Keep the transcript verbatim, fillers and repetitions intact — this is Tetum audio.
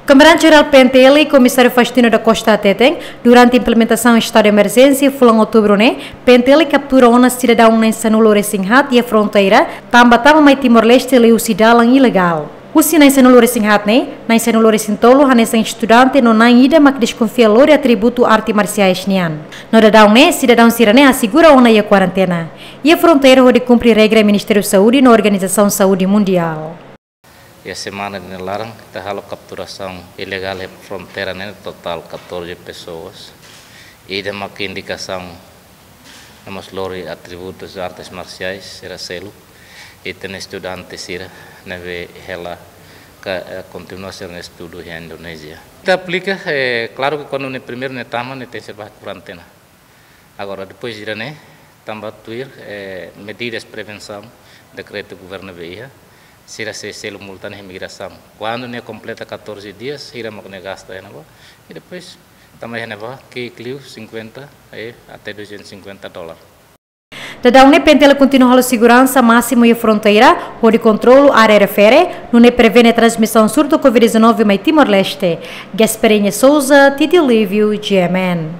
Komandante Jerál P N T L, Komisáriu Faustino da Costa hateten, durante implementasaun estadu de emerjénsia fulan Outubru ne'e, P N T L kaptura ona sidadaun na'in sanulu-resin-haat iha fronteira, tanba tama mai Timor-Leste liuhusi dalan ilegál. Husi na'in sanulu-resin-haat ne'e, na'in sanulu-resin-tolu hanesan estudante no na'in ida mak deskonfia lori atributu arte marsiais nian. No daudaun ne'e, sidadaun sira-ne'e asegura ona iha kuarentena iha fronteira hodi kumpre regra Ministériu Saúde no Organizasaun Saúde Mundiál. Iha semana ida-ne'e laran, ita halo kapturasaun ilegál iha fronteira ne'e totál katorze pessoas. Ida mak indikasaun no mós lori atributus artes marsiais sira seluk. Ita-nia estudante sira ne'ebé hela ka, eh, kontinua sira-nia estudu iha Indonézia. Ita aplika, eh, klaru ke kuandu ne'e primeiru ne'e tama, ne'e tenke ser ba kuarentena. Agora, depois de ne'e, tanba tuir, eh, medidas prevensaun, dekretu governu ne'ebé iha, sira sei selu multa iha imigrasaun. Kuandu ne'e kompleta katorze dias, sira mak ne'e gasta iha ne'ebá. I depois, tama iha ne'ebá, ki'ik liu cinquenta, eh, até duzentos e cinquenta dólar. Daudaun ne'e P N T L kontinua halo seguransa másimu iha fronteira, hodi kontrolu área refere, nune'e prevene transmisaun surtu Covid dezanove mai Timor-Leste. Gasparinha Souza, Titi Lívio, G M N.